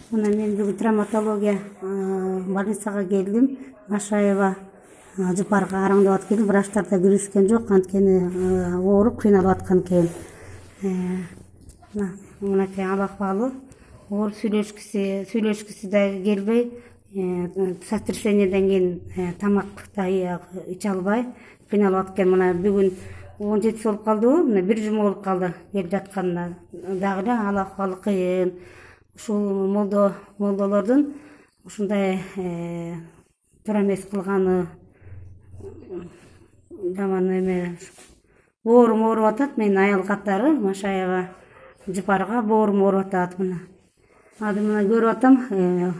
Мына мен бүгүн травматология больницага келдим. Машаева жыпарга караңдап атып келдим. Врачтар да киришкен жок, анткени ооруп кыйналып аткан экен. Мынакей ал акыбалы. Ооруп сүйлөшкүсү да келбей, сотрясениеден кийин тамак да иче албай кыйналып атып экен. Мына бүгүн 17 болуп калдыбы? Мына 1 жума болуп калды келип жатканына. Дагы эле ал акыбалы кыйын. Ушул молдолордун ушундай туура эмес кылганы жаман эме. Боорум ооруп атат. Менин аял катары Машаева жыпарга боорум ооруп атат. Мына көрүп атам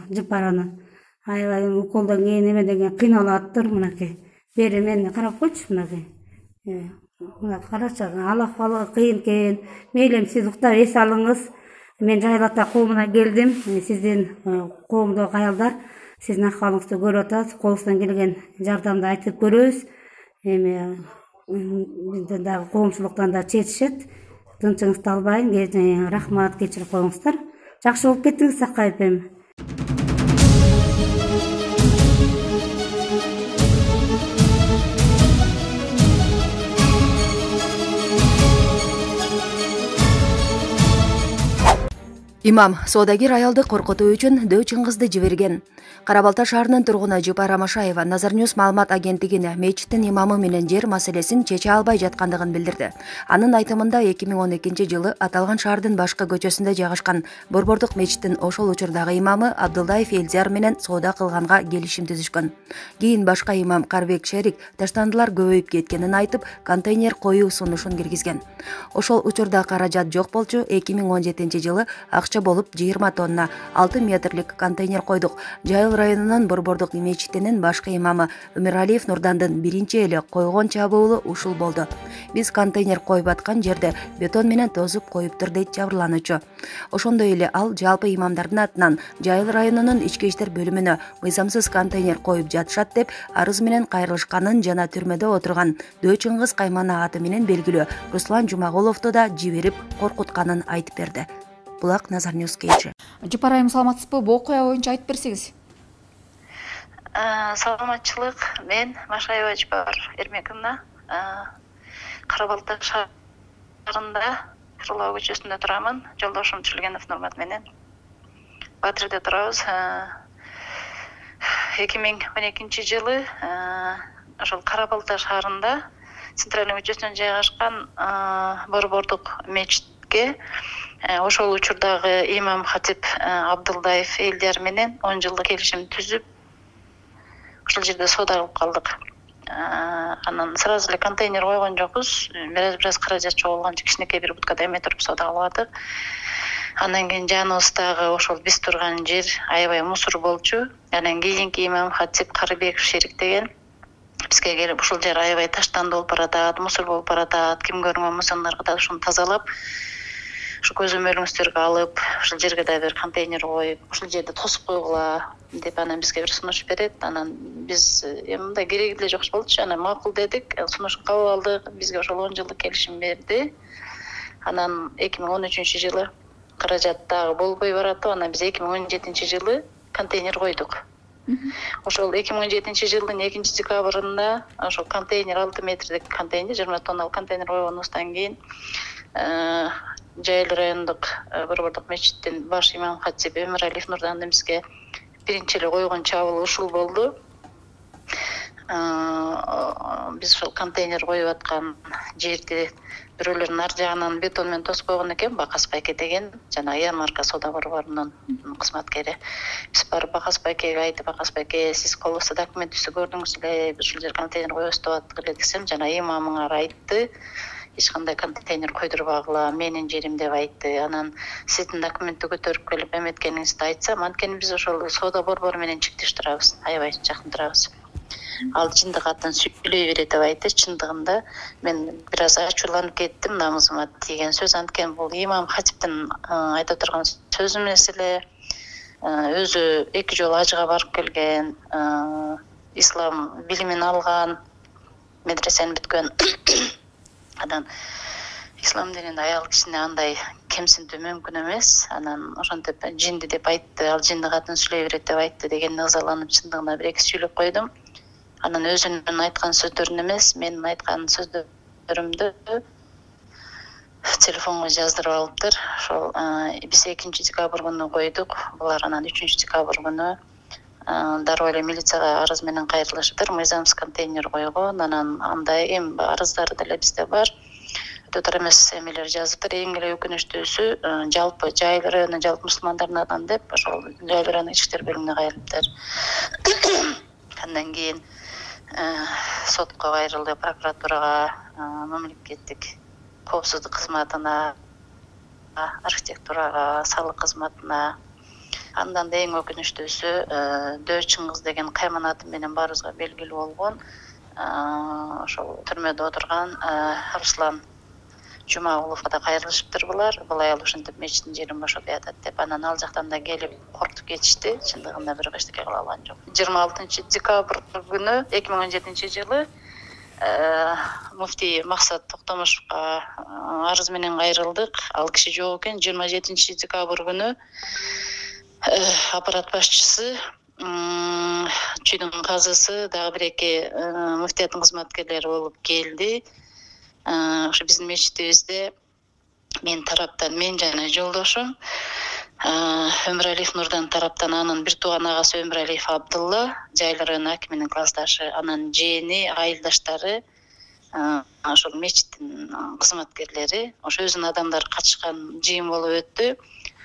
жыпараны. Аябай уколдон кийин эмеден кийин кыйналып атыптыр. Мынакей. Бери мени карап койчу мынакей. Мына карачы, ал акыбалы кыйын экен. Мейлим сиз уктап эс алыңыз. Мен Жайыл ата коомуна келдим. Сиздин коомдогу аялдар сиздин акыбалыңызды көрүп атат. Колубуздан келген жардамды айтып көрөбүз. Бизден дагы коомчулуктан да четишет. Тынчыңызды албайын. Рахмат, кечирип коюңуздар. Жакшы болуп кеттиңиз, Сакаев эми. Имам соодагер аялды коркутуу үчүн Дөө Чыңгызды жиберген. Кара Балта шаарынын тургуну Жыпара Машаева Назар Ньюс маалымат агенттигине мечиттин имамы менен жер маселесин чече албай жаткандыгын билдирди. Анын айтымында 2012-жылы аталган шаардын башкы көчөсүндө жайгашкан Борбордук мечиттин ошол учурдагы имамы Абдулдаев Элдияр менен соода кылганга келишим түзүшкөн. Кийин башка имам Карбек Шерик таштандылар көбөйүп кеткенин айтып, контейнер коюу сунушун киргизген. Ошол учурда каражат жок болчу. 2017-жылы акча болуп 20 тонна 6 метрлик контейнер койдук. Жайыл районунун Борбордук мечитинин башкы имамы Өмүралиев Нурдандын биринчи эле койгон чабуулу ушул болду. Биз контейнер коюп аткан жерде бетон менен тосуп коюптур, дейт жабырлануучу. Ошондой эле ал жалпы имамдардын атынан Жайыл районунун ички иштер бөлүмүнө мыйзамсыз контейнер коюп жатышат деп арыз менен кайрылышканын жана түрмөдө отурган Дөө Чыңгыз каймана аты менен белгилүү Руслан Жумагуловду да жиберип коркутканын айтып берди. Булак Назар Ньюс кечи. Жыпар айым, саламатсызбы? Бул окуя боюнча айтып берсеңиз. Саламатчылык. Мен Машаева Жыпар Эрмековна, Кара Балта шаарында Кырлоо көчөсүндө турамын. Жолдошум Чүлгенов Нурмат менен Батырда турабыз. 2012-жылы ошол Кара Балта шаарында Центральный көчөсүнөн жайгашкан Борбордук мечитке ошол учурдагы имам хатип Абдулдаев Элдияр менен 10 жылдык келишим түзүп, ошол жерде соода кылып калдык. Анан сразу эле контейнер койгон жокпуз. Бир аз каражат чогулганча кичинекей бир будкада эме туруп соода кылып атык. Андан кийин жаныбыздагы ошол биз турган жер аябай мусор болчу. Анан кийинки имам хатип Карыбеков Шерик деген бизге келип ушул жер аябай таштанды болуп баратат, мусор болуп баратат, ким көрүнгөн мусорлорго да ушуну тазалап, ушу көзөмөлүңүздөргө алып, ушул жерге да бир контейнер коюп, ушул жерде тосуп койгула деп анан бизге бир сунуш берет. Анан биз мындай кереги деле жок болчу. Анан макул дедик, сунушун кабыл алдык. Бизге ошол 10 жылдык келишим берди. Анан 2013-жылы каражат дагы болбой баратып, анан биз 2017-жылы контейнер койдук. Ошол 2017-жылдын 2-декабрында ошол контейнер 6 метрлик контейнер, 20 тонналык контейнер койгонубуздан кийин Жайыл райондук Борбордук мечиттин баш имам хатиби Өмүралиев Нурдандын бизге биринчи эле койгон чабуулу ушул болду. Биз ошол контейнер коюп аткан жерди бирөөлөрдүн ар жагынан бетон менен тосуп койгон экен. Бакас байке деген жана ярмарка соода борборунун кызматкери. Биз барып Бакас байкеге айтып, Бакас байке, сиз колубузда документибизди көрдүңүз эле, биз ушул жер контейнер коебуз деп аттык эле десем, жана имамыңар айтты, эч кандай контейнер койдурбагыла, менин жерим деп айтты. Анан сиздин документти көтөрүп келип эметкениңизди айтсам, анткени биз ошол соода борбору менен чектеш турабыз, аябай жакын турабыз. Ал чындык атын сүйлөй берет деп айтты. Чындыгында мен бир аз ачууланып кеттим, намызыма тийген сөз. Анткени бул имам хатиптин айта турган сөзү эмес эле. Өзү 2 жолу ажыга барып келген, ислам билимин алган, медресени бүткөн. Анан ислам дининде аял кишини андай кемсинтүү мүмкүн эмес. Анан ошентип жинди деп айтты, ал жинди катын сүйлөй берет деп айтты дегенде ызаланып чындыгында бир эки сүйлөп койдум. Анан өзүнүн айткан сөздөрүн эмес, менин айткан сөздөрүмдү телефонго жаздырып алыптыр. Ошол биз 2 декабрь күнү койдук. Булар анан 3 декабрь күнү дароо эле милицияга арыз менен кайрылышыптыр. Мыйзамсыз контейнер койгон. Анан андай эми арыздары деле бизде бар. Өтө эмес эмелер жазыптыр. Эң эле өкүнүчтүүсү жалпы Жайыл району жалпы мусулмандардын атынан деп ошол Жайыл району ички иштер бөлүмүнө кайрылыптыр. Андан кийин сотко кайрылды, прокуратурага, мамлекеттик коопсуздук кызматына, архитектурага, салык кызматына. Андан да эң өкүнүчтүүсү Дөө Чыңгыз деген кайманаты менен баарыбызга белгилүү болгон ошол түрмөдө отурган Руслан Жумагуловго да кайрылышыптыр булар. Бул аял ушинтип мечиттин жерин бошотуп атат деп. Анан ал жактан да келип кортуп кетишти. Чындыгында бирок эчтеке кыла алган жок. 26 декабрь күнү 2017 жылы муфтий Максат Токтомушевго арыз менен кайрылдык. Ал киши жок экен. 27 декабрь күнү аппарат башчысы, чүйдүн казысы, дагы бир эки муфтияттын кызматкерлери болуп келди. Ошо биздин мечитибизде мен тараптан, мен жана жолдошум Өмүралиев Нурдан тараптан анын бир тууган агасы Өмүралиев Абдулла, Жайыл району акиминин классташы, анан жээни, айылдаштары, ошол мечиттин кызматкерлери, ошо өзүнүн адамдары катышкан жыйын болуп өттү.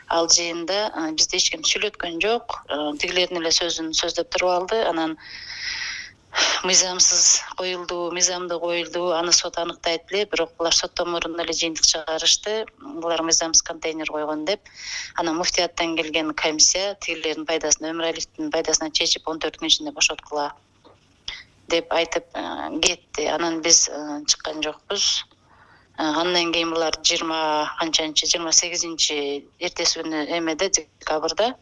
Ал жыйында бизди эч ким сүйлөткөн жок. Тигилердин эле сөзүн сөздөп туруп алды. Анан мыйзамсыз коюлду, мыйзамдуу коюлду, аны сот аныктайт эле, бирок булар соттон мурун эле жыйынтык чыгарышты. Булар мыйзамсыз контейнер койгон деп. Анан муфтияттан келген комиссия тигилердин пайдасына, Өмүралиевдин пайдасына чечип 14 күн ичинде бошоткула деп айтып кетти. Анан биз чыккан жокпуз. Андан кийин булар 28 эртеси күнү эмеде декабрда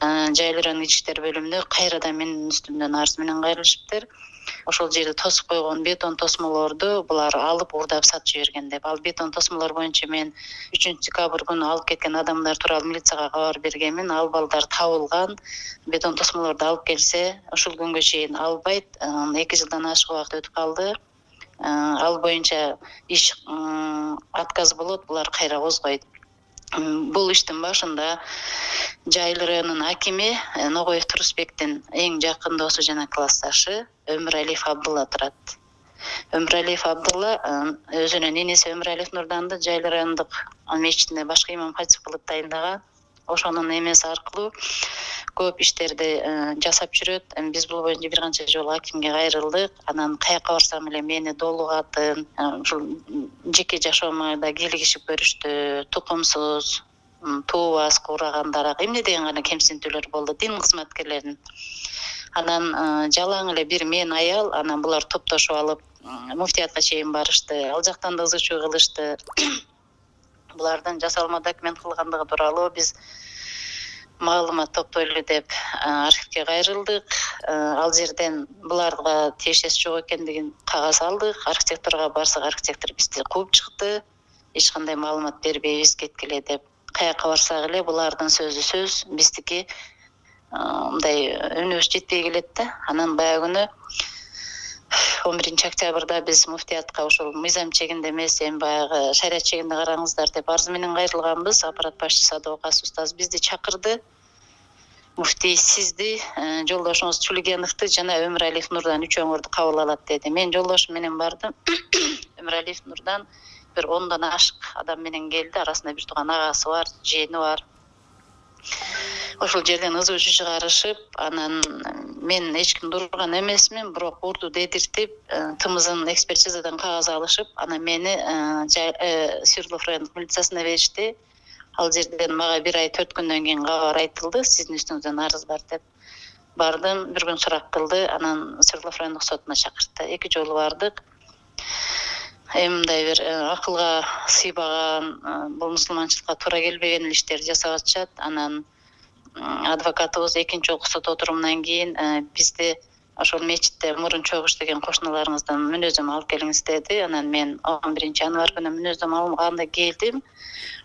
Жайыл району ички иштер бөлүмүнө кайрадан менин үстүмдөн арыз менен кайрылышыптыр. Ошол жерде тосуп койгон бетон тосмолорду булар алып уурдап сатып жиберген деп. Ал бетон тосмолор боюнча мен 3 декабрь күнү алып кеткен адамдар тууралуу милицияга кабар бергенмин. Ал балдар табылган. Бетон тосмолорду алып келсе, ушул күнгө чейин албайт. 2 жылдан ашык убакыт өтүп калды. Ал боюнча иш отказ болот, булар кайра козгойт. Бул иштин башында Жайыл районунун акими Ногоев Турусбектин эң жакын досу жана классташы Өмүралиев Абдулла турат. Өмүралиев Абдулла өзүнүн энеси Өмүралиев Нурданды Жайыл райондук мечитине башкы имам катип кылып тайындаган. Ошонун эмеси аркылуу көп иштерди жасап жүрөт. Биз бул боюнча бир канча жолу акимге кайрылдык. Анан каяка барсам эле мени долугатын, ушул жеке жашоомо да кийлигишип көрүштү. Тукумсуз, туубас, куурагандар, эмне деген гана кемсинтүүлөр болду дин кызматкерлеринин. Анан жалаң эле бир мен аял, анан булар топтошуп алып муфтиятка чейин барышты. Ал жактан да ызы чуу кылышты. Булардын жасалма документ кылгандыгы тууралуу биз маалымат топтойлу деп архивге кайрылдык. Ал жерден буларга тиешеси жок экендигин кагаз алдык. Архитектурага барсак, архитектор бизди кууп чыкты. Эч кандай маалымат бербейбиз, кеткиле деп. Каяка барсак эле булардын сөзү сөз, биздики мындай өнүбүз жетпей келет да. Анан баягы күнү 11 октябрда биз муфтиятка ошол мыйзам чегинде эмес, эми баягы шарият чегинде караңыздар деп арыз менен кайрылганбыз. Аппарат башчысы Адвокат устаз бизди чакырды. Муфтий сизди, жолдошуңуз Чулигеновду жана Өмүралиев Нурдан үчөөңөрдү кабыл алат деди. Мен жолдошум менен бардым. Өмүралиев Нурдан бир 10дон ашык адам менен келди. Арасында бир тууган агасы бар, жээни бар. Ошол жерден ызы чуу чыгарышып, анан мен эч кимди урган эмесмин, бирок урду дедиртип, тымызын экспертизадан кагаз алышып, анан мени Свердлов райондук милициясына беришти. Ал жерден мага 1 ай 4 күндөн кийин кабар айтылды, сиздин үстүңүздөн арыз бар деп. Бардым, бир күн сурак кылды, анан Свердлов райондук сотуна чакыртты. 2 жолу бардык. Эми мындай бир акылга сыйбаган, бул мусулманчылыкка туура келбеген иштерди жасап атышат. Анан адвокатыбыз экинчи окуу сот отурумунан кийин бизди ошол мечитте мурун чогуу иштеген кошуналарыңыздан мүнөздөмө алып келиңиз деди. Анан мен 11-январь күнү мүнөздөмө алганда келдим.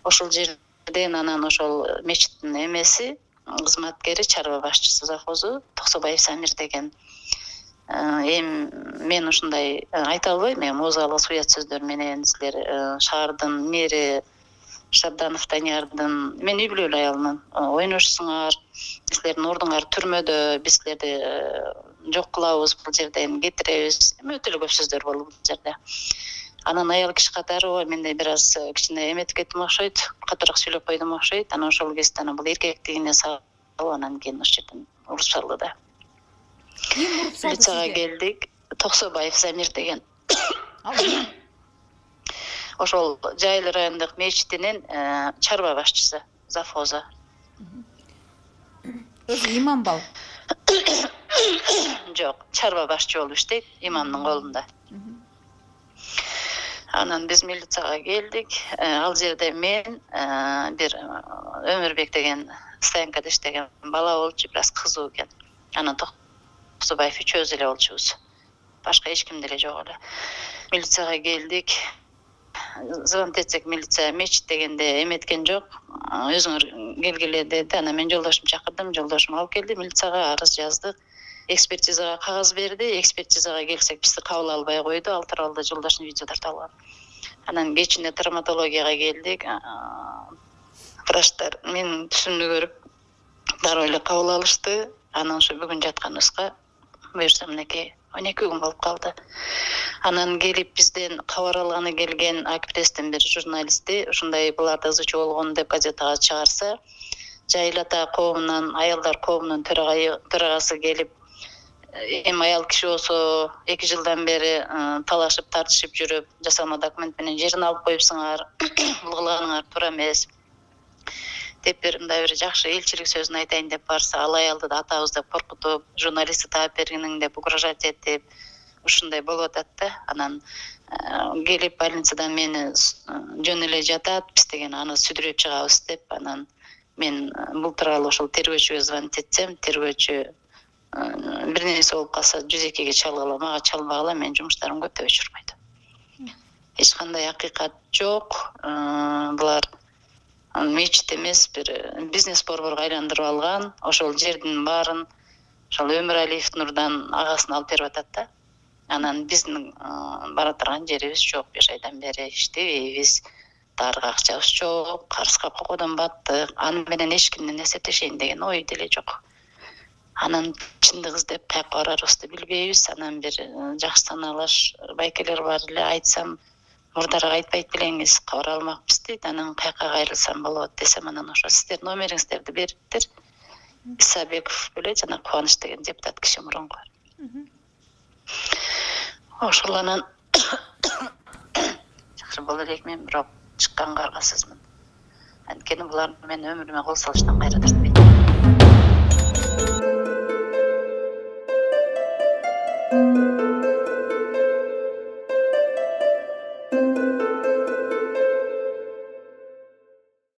Ошол жерден анан ошол мечиттин эмеси, кызматкери, чарба башчысы завхозу Токсобаев Самир деген. Эми мен ушундай айта албайм, эми оозалгыс уят сөздөр менен силер шаардын мэри Шабданов Даниярдын мен үй бүлөлүү аялмын, ойношсуңар, силердин ордуңар түрмөдө, биз силерди жок кылабыз, бул жерден кетиребиз. Өтө эле көп сөздөр болду бул жерде. Анан аял киши катары менде бир аз кичине эметип кеттим окшойт, катуураак сүйлөп койдум окшойт. Анан ошол кезде бул эркектигине салып, анан кийин ошол жерден уруп салды да. Ким уруп салды Лицага сизге? келдик. Токсобаев Замир деген. Ошол Жайыл райондук мечитинин чарба башчысы, завхозу. Өзү имам бал. Жок, чарба башчы болуп иштейт, имамдын колунда. Анан биз милицияга келдик. Ал жерде мен бир Өмүрбек деген стоянкада иштеген бала болчу, бир аз кызуу экен. Анан Токсобаев үчөөбүз эле болчубуз. Башка эч ким деле жок эле. Милицияга келдик. Звонок этсек, милиция мечит дегенде эметкен жок. Өзүңөр келгиле деди. Анан мен жолдошумду чакырдым, жолдошум алып келди. Милицияга арыз жаздык. Экспертизага кагаз берди. Экспертизага келсек, бизди кабыл албай койду. Ал тууралуу жолдошдун видео тартылган. Анан кечинде травматологияга келдик. Врачтар менин түсүмдү көрүп дароо эле кабыл алышты. Анан ошо бүгүн жатканыбызга буюрса мынакей 12 күн болуп калды. Анан келип бизден кабар алганы келген Акпресстин бир журналисти ушундай буларда ызычуу болгон деп газетага чыгарса, Жайыл ата коомунан, аялдар коомунун төрагасы келип, эми аял киши болсо 2 жылдан бери талашып тартышып жүрүп, жасалма документ менен жерин алып коюпсуңар, бул кылганыңар туура эмес деп мындай бир жакшы элчилик сөзүн айтайын деп барса, ал аялды да атабыз деп коркутуп, журналистти таап бергиниң деп угрожать этип, ушундай болуп атат да. Анан келип больницадан мени жөн эле жатат, биз деген аны сүдүрөп чыгабыз деп, анан мен бул тууралуу ошол тергөөчүгө звонить этсем, тергөөчү бир нерсе болуп калса 102-ге чалгыла, мага чалбагыла, менин жумуштарым көп деп өчүрүп койду. Эч кандай акыйкат жок. Булар мечит эмес, бир бизнес борборго айландырып алган. Ошол жердин баарын ошол Өмүралиев Нурдан агасына алып берип атат да. Анан биздин бара турган жерибиз жок, 5 айдан бери иштебейбиз. Дарыга акчабыз жок, карызга кокодон баттык. Аны менен эч кимден эсептешейин деген ой деле жок. Анан чындык издеп каяка барарыбызды билбейбиз. Анан бир жакшы санаалаш байкелер бар эле, айтсам мурдараак айтпайт белеңиз, кабар алмакпыз дейт. Анан каяка кайрылсам болот десем, анан ошо сиздердин номериңиздерди бериптир. Исабеков беле жана Кубаныч деген депутат киши мурунку. Ошол анан жакшы боло элекмин, бирок чыкканга аргасызмын. Анткени булар мени өмүрүмө кол салыштан кайра тартпайт.